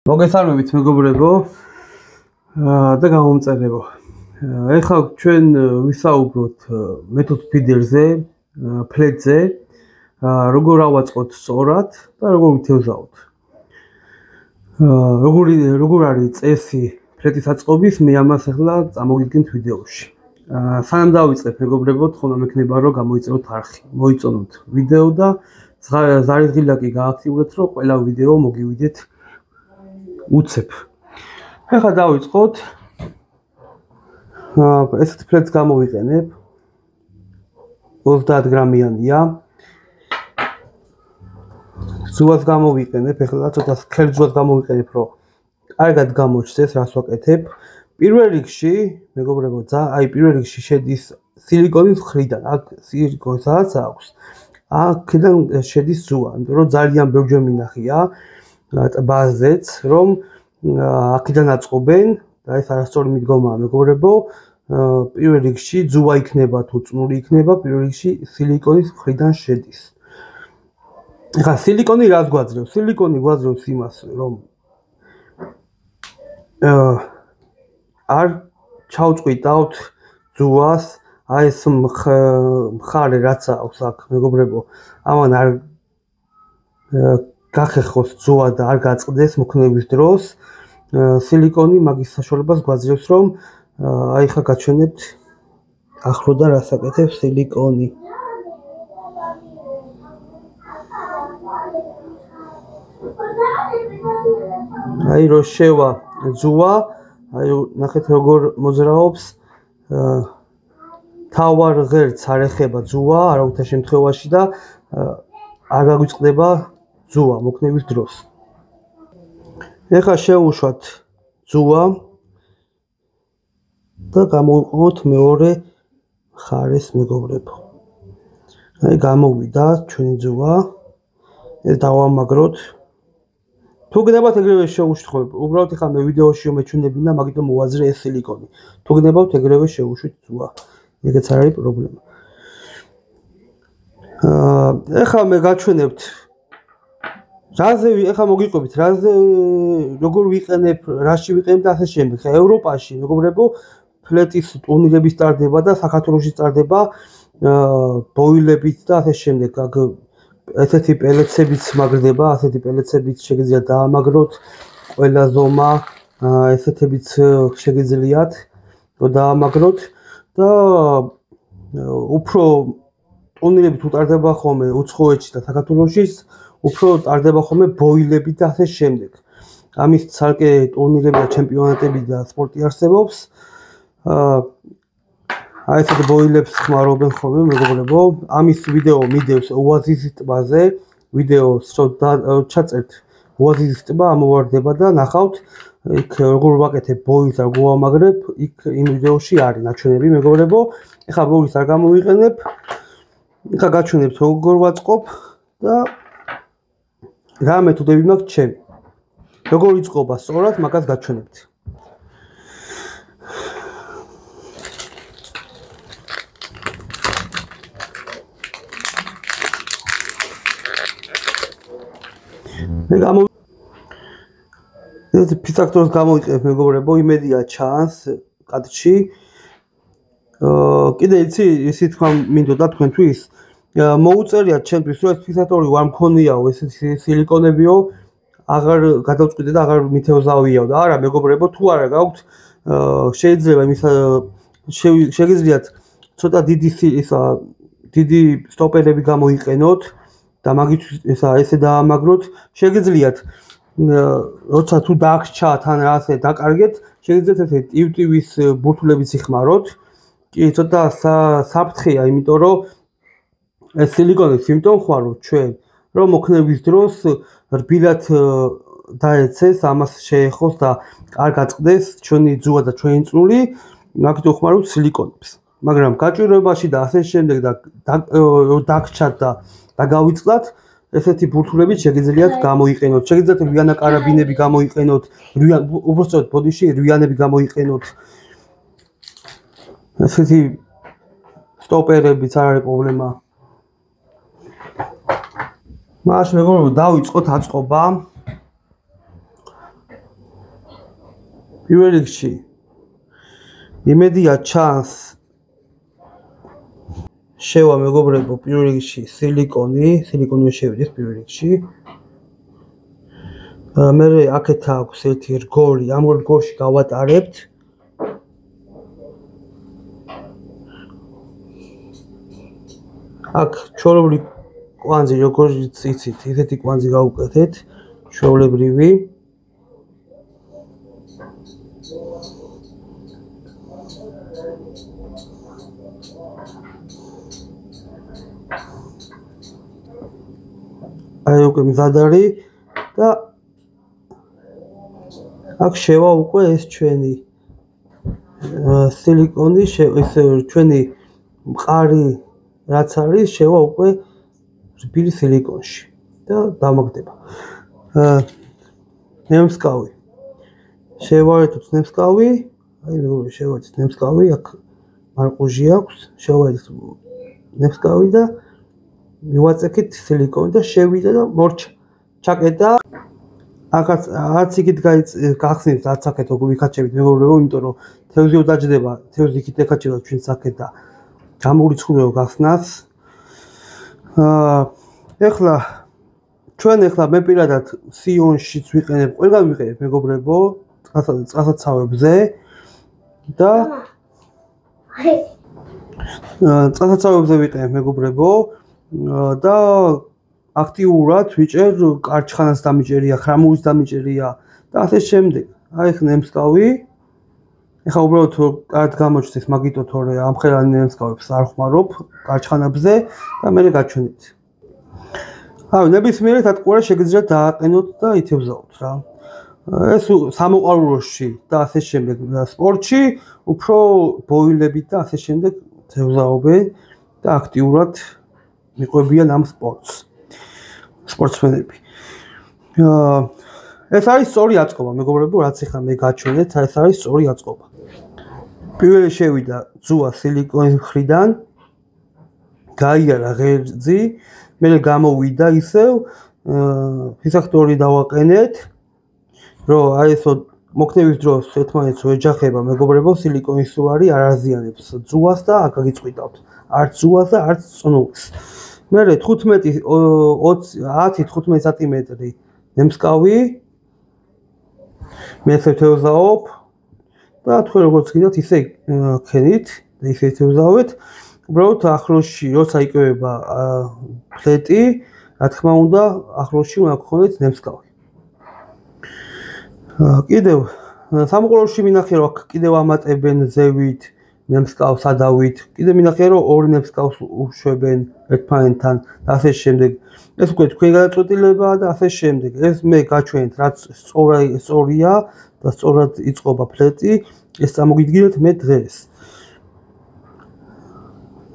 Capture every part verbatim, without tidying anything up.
მოგესალმებით მეგობრებო და გამომწერებო. ეხლა ჩვენ ვისაუბროთ მეთოდ ფიდერზე, ფლეტზე, როგორ ავაწყოთ სწორად და როგორ ვითევზაოთ. როგორ როგორ არის წესი ფლეტის აწყობის, მე ამას ახლა წამოგიდგენთ ვიდეოში. სანამ დავიწყებ მეგობრებო, თქონა მექნება რომ გამოიწეროთ არხი, მოიწონოთ ვიდეო და ზარისღილაკი გააქტიუროთ, რომ ყველა ვიდეო მოგივიდეთ უცებ. ახლა დავიწყოთ. ესეთ ფლეტს გამოვიყენებ. ოცდაათ გრამიანია. ზუას გამოვიყენებ, ახლა ცოტა სქელძვას გამოვიყენებ, რომ კარგად გამოჩნდეს, რას ვაკეთებ. პირველ რიგში, მეგობრებო, ძა, აი პირველ რიგში შედის სილიკონის მხრიდან, აქ სილიკონსაც აქვს. აქედან შედის ზუა, იმიტომ რომ ძალიან ბევრჯერ მინახია ტბაზეც, რომ აქედან აწყობენ და ეს არასწორი მიდგომაა, მეგობრებო. პირველ რიგში ზუა იქნება თუ წნული იქნება, პირველ რიგში სილიკონის მხრიდან შედის. ახლა სილიკონი რას გვაძლევს? სილიკონი გვაძლევს იმას, რომ არ ჩავწყვიტავთ ზუას, აი ეს მხარე რაც აქვს აქ, მეგობრებო, ამან არ გახეხოს ზუა და არ გაწყდეს მოქნევის დროს. სილიკონი მაგის საშუალებას გვაძლევს, რომ აი ხა გაჩვენებთ ახლოდან რას აკეთებს სილიკონი. აი რო შევა ზუა, აი ნახეთ როგორ მოძრაობს. თავარ ღერც არ ეხება ზუა არავითარ შემთხვევაში და არ გაგვიწყდება ზუა მოქნევის დროს. ეხლა შევუშვათ ზუა და გამოვიყენოთ მეორე მხარეს, მეგობრებო. აი გამოვიდა ჩვენი ზუა. ეს დავამაგროთ. თუ გნებავთ ეგრევე შევუშვით, უბრალოდ ეხლა მე ვიდეოში მეჩვენებინა, მაგიტომ მოვაძრე ეს სილიკონი. თუ გნებავთ ეგრევე შევუშვით ზუა. ეგეც არ არის პრობლემა. აა ეხლა მე გაჩვენებთ რაზე ეხლა მოგიყვებით, რაზე როგორ ვიყენებ, რაში ვიყენებ და ასე შემდეგ. ხა ევროპაში, მეგობრებო, ფლეტის ტურნირები სტარდება და საქართველოში სტარდება ბოილებით და ასე შემდეგ. აქ ესეთი პელეცებიც მაგრდება, ასეთი პელეცებიც შეგიძლიათ დაამაგროთ, ყველა ზომა, ესეთებიც შეგიძლიათ რომ დაამაგროთ და უფრო ტურნირები თუ ტარდება ხოლმე უცხოეთში და საქართველოში, უფრო ტარდება ხოლმე ბოილები და ასე შემდეგ. ამის ცალკე ტურნირები და ჩემპიონატები და სპორტი არსებობს. აი ესეთ ბოილებს ხმარობენ ხოლმე, მეგობრებო. ამის ვიდეო მიდევს ოაზისის ტბაზე. ვიდეოს რო ჩაწერთ ოაზისის ტბა ამოვარდება და ნახავთ იქ როგორ ვაკეთებ ბოილს, როგორ ვამაგრებ, იქ იმ ვიდეოში არის ნაჩვენები, მეგობრებო. ეხლა ბოილს არ გამოვიყენებ. ეხლა გაჩვენებთ როგორ ვაწყობ და რა მეთოდები მაქვს ჩემი. როგორ იწყობა სწორად, მაგას გაჩვენებთ. მე გამო ეს ფიცაქტორს გამოვიყენებ, მეგობრებო, იმედია ჩანს კადრში. აა კიდე იცი, ისე თქვა მინდოდა თქვენთვის მოუწერიათ ჩემთვის, რომ ეს ფიცაქტორი ვარ მქონიაო, ეს სილიკონებიო, აღარ გადავწყვიტე და აღარ მითევზავიაო და არა, მეგობრებო, თუ არა გაქვთ, შეიძლება იმის შეგიძლიათ ცოტა დიდი ისა დიდი სტოპერები გამოიყენოთ და მაგით ესა ესე დაამაგროთ. შეგიძლიათ როცა თუ დაგჭათ ან ასე დაკარგეთ, შეგიძლიათ ესე ტივ-ტივის ბურთულებით იხმაროთ. კი, ცოტა საფრთხეა, იმიტომ რომ ეს სილიკონის სიმპტომი რო ჩვენ რომ მოქნევის დროს რბილად დაეცეს, ამას შეეხოს და არ გაწყდეს ჩვენი ზუა და ჩვენი წნული, მაგით ხმარობთ სილიკონებს. მაგრამ გაჭირვებაში და ასე შემდეგ და დაგჭათ და დაგავიწყდათ, ესეთი ბურთულებით შეგიძლიათ გამოიყენოთ. შეგიძლიათ რვიანა კარაბინები გამოიყენოთ, უბრალოდ ბოდიში რვიანები გამოიყენოთ. ესეთი სტოპერებიც არ არის პრობლემა. მაშინ მეგობრებო, დავიწყოთ აწყობა. პირველ რიგში იმედია ჩანს შევა მეგობრებო პირველ რიგში სილიკონი, სილიკონი შევიდეს პირველ რიგში. მე აქეთ აქვს ერთი რგოლი, ამ რგოლში გავატარებთ. აქ ჩვეულებრივი კვანძი როგორც იცით, ისეთი კვანძი გავუკეთეთ, ჩვეულებრივი. აი უკვე მზად არის და აქ შევა უკვე ეს ჩვენი სილიკონი, ეს ჩვენი მყარი რაც არის, შევა უკვე რბილი სილიკონში და დამაგდება. ნემსკავი. შევარდეთ ნემსკავი, აი მეგობრებო, შევარდეთ ნემსკავი, აქ მარყუჟი აქვს, შევარდეთ ნემსკავი და მივაწექით სილიკონი და შევიდა და მორჩა. ჩაკეტა. აქაც არც იქით გახსნით, რაც აქეთ როგორ ვიქაჩებით მეგობრებო, იმიტომ რომ თევზიო დაჯდება, თევზი იქით ეკაჩება ჩვენ საკეთ და გამურიცხულებ გახსნას. აა ეხლა ჩვენ ეხლა მე პირადად სიონშიც ვიყენებ, ყველგან ვიყენებ მეგობრებო, წყალსაცავებზე და წყალსაცავებზე ვიყენებ მეგობრებო და აქტიურად ვიჭერ კარჩხანას დამიჭერია, ხრამულის დამიჭერია და ასე შემდეგ. აი ხ ნემსკავი. ეხლა უბრალოდ კარგ გამოჩნდეს მაგიტო თორე ამხელანი ნემსკავებს არ ხმარობ კარჩხანებზე და მე გაჩვენეთ. აი ნებისმიერ დატყუარა შეგიძლიათ დააყენოთ და ითევზაოთ რა. ეს სამოყვარულოში და ასე შემდეგ სპორტში უფრო ბოილებით და ასე შემდეგ თევზაობენ და აქტიურად მიყვებიან ამ სპორტს. სპორტსმენები. ეს არის სწორი აწყობა, მეგობრებო, რაც ახლა მე გაჩვენეთ, ეს არის სწორი აწყობა. პირველი შევიდა ძუა სილიკონის მხრიდან, გაიარა ღერძი, მერე გამოვიდა ისევ, ფისახტორი დავაყენეთ, რომ აი ესო მოქნევის დროს ერთმანეთს ეჯახება, მეგობრებო, სილიკონის უარი არ აზიანებს ძუას და არ გაგიწყვიტავთ. არც ძუას და არც წნულს. მერე თხუთმეტი ათი თხუთმეტი სანტიმეტრი ნემსკავი მე შევთევზაობ და თქვენ როგორც გინდათ ისე ქენით და ისე შევთევზავეთ. უბრალოდ ახლოსში როცა იკევება ფლეტი, რა თქმა უნდა, ახლოსში უნდა გქონდეთ ნემსკავი. კიდევ სამოყვარულში მინახე რომ აქ კიდევ ამატებენ ზევით ნემსკავს ადავით. კიდე მინახე რომ ორი ნემსკავს უშვებენ ერთმანეთთან და ასე შემდეგ. ეს უკვე თქვენი გადაწყვეტილებაა და ასე შემდეგ. ეს მე გაჩვენეთ რაც სწორია და სწორად იწყობა ფლეტი, ეს წარმოგიდგინეთ მე დღეს.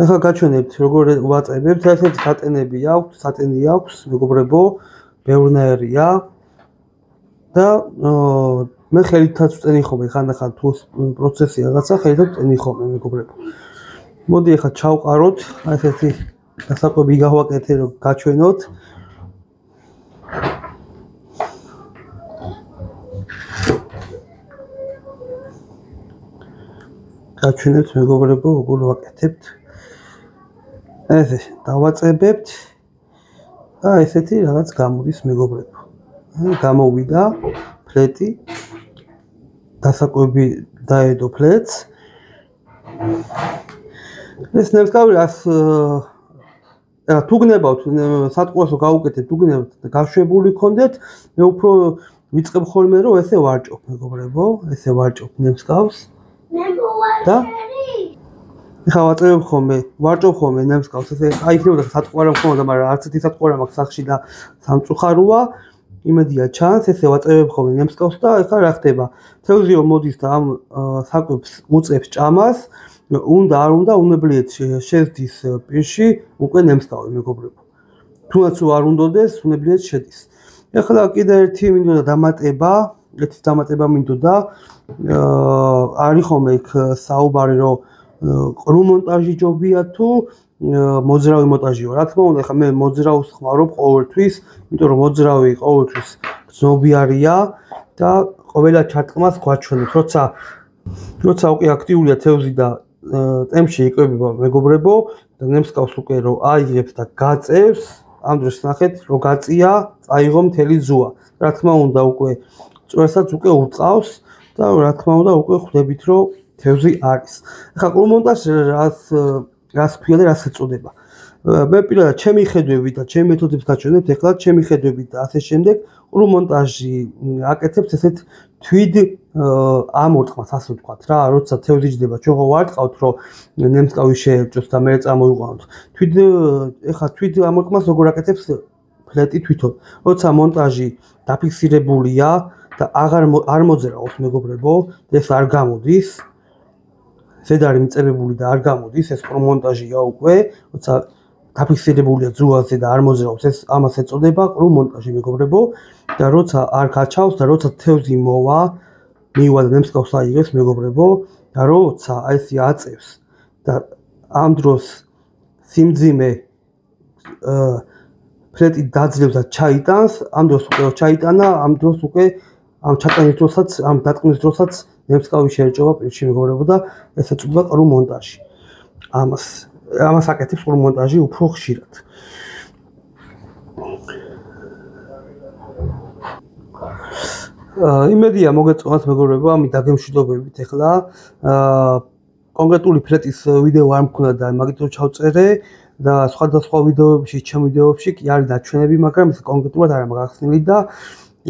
ახლა გაჩვენებთ როგორ ვაწებებთ, ესეთი სატენები აქვს, სატენი აქვს, მეგობრებო, ბევრნაირია და მე ხელითაც ვწენი ხოლმე ხანდახან თუ პროცესი რაღაცა ხელითაც ვწენი ხოლმე მეგობრებო. მოდი ახლა ჩავყაროთ, აი ესეთი დასაკვები გავაკეთე რომ გაჩვენოთ. გაჩვენებთ მეგობრებო როგორ ვაკეთებთ. ესე დავაწებებთ და ესეთი რაღაც გამოდის მეგობრებო. გამოვიდა ფლეტი, დასაკვები დაედო ფლეტს. ეს ნემსკავი რას რა თუ გნებავთ სატყუასო გავუკეთეთ, თუ გნებავთ და გაშვებული გქონდეთ, მე უფრო ვიწყებ ხოლმე რომ ესე ვარჭობ მეგობრებო, ესე ვარჭობ ნემსკავს. და ეხლა ვაწევებ ხოლმე, ვარჭობ ხოლმე ნემსკავს, ესე აი იქნებოდა სატყუარა მქონოდა, მაგრამ არც ერთი სატყუარა მაქვს სახში და სამწუხაროა. იმედია ჩანს, ესე ვაწევებ ხოლმე ნემსკავს და ეხლა რა ხდება? თევზიო მოდის და ამ საკვებს უწევს ჭამას, უნდა არ უნდა უნებლიეთ შეძდის პირში უკვე ნემსკავი მეგობრებო. თუნდაც არ უნდოდეს, უნებლიეთ შედის. ეხლა კიდე ერთი მინდოდა დამატება, ერთი დამატება მინდოდა. არის ხოლმე იქ საუბარი რომ ყრუ მონტაჟი ჯობია თუ მოძრავი მონტაჟიო. რა თქმა უნდა, ეხლა მე მოძრავს ხმარობ ყოველთვის, იმიტომ რომ მოძრავი ყოველთვის გზნობიარია და ყველა ჩარტყმას გვაჩვენებს, როცა როცა უკვე აქტიურია თევზი და ტემპში იკვებება მეგობრებო და ნემსკავს უკვე რომ აიღებს და გაწევს, ამ დროს ნახეთ რომ გაწია, წაიღო მთელი ზუა. რა თქმა უნდა უკვე წვერსაც უკვე ურტყავს და რა თქმა უნდა უკვე ხვდებით რომ თევზი არის. ახლა ყრუ-მონტაჟი რას რას ქვია და რას ეწოდება? მე პირადად ჩემი ხედვებით და ჩემი მეთოდებს გაჩვენებთ, ეხლა ჩემი ხედვებით და ასე შემდეგ ყრუ-მონტაჟი აკეთებს ესეთ თვიდ ამორტყმას, ასე ვთქვათ რა, როცა თევზი ჯდება, ჩვენ ხო ვარტყავთ, რომ ნემსკავი შეერჭოს და მე წამოიყვანოთ. თვიდ ეხლა თვიდ ამორტყმას როგორ აკეთებს ფლეტი თვითონ. როცა მონტაჟი დაფიქსირებულია და აღარ არ მოძრაობს მეგობრებო, ეს არ გამოდის. ზედ არის მიწებებული და არ გამოდის, ეს ყრუ-მონტაჟია უკვე, როცა დაფიქსირებულია ძუაზე და არ მოძრაობს, ეს ამას ეწოდება ყრუ-მონტაჟი მეგობრებო და როცა არ გაჩავს და როცა თევზი მოვა, მივა და ნემსკავს აიღებს მეგობრებო და როცა აი ესე აწევს და ამ დროს სიმძიმე ფლეტი დაძლევს და ჩაიტანს, ამ დროს უკვე ჩაიტანა, ამ დროს უკვე ამ ჩატანის დროსაც, ამ დატყმის დროსაც ნემსკავი შეერჭება პირში მეგობრებო და ეს ეწოდება ყრუ-მონტაჟი. ამას ამას აკეთებს ყრუ-მონტაჟი უფრო ხშირად. იმედია მოგეწონათ მეგობრებო ამით დაგემშვიდობებით ეხლა. კონკრეტული ფლეტის ვიდეო არ მქონდა და მაგითო ჩავწერე და სხვადასხვა ვიდეოებში, ჩემ ვიდეოებში კი არის დაჩვენები, მაგრამ ეს კონკრეტულად არ მაგახსნილი და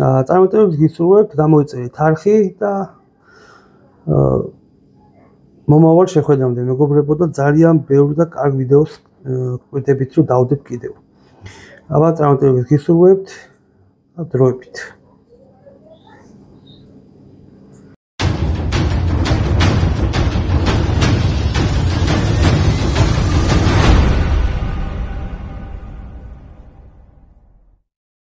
წარმატებებს გისურვებთ, გამოიწერეთ არხი და მომავალ შეხვედრამდე მეგობრებო და ძალიან ბევრ და კარგ ვიდეოს გვხვდებით რომ დავდებ კიდევ. აბა წარმატებებს გისურვებთ და დროებით.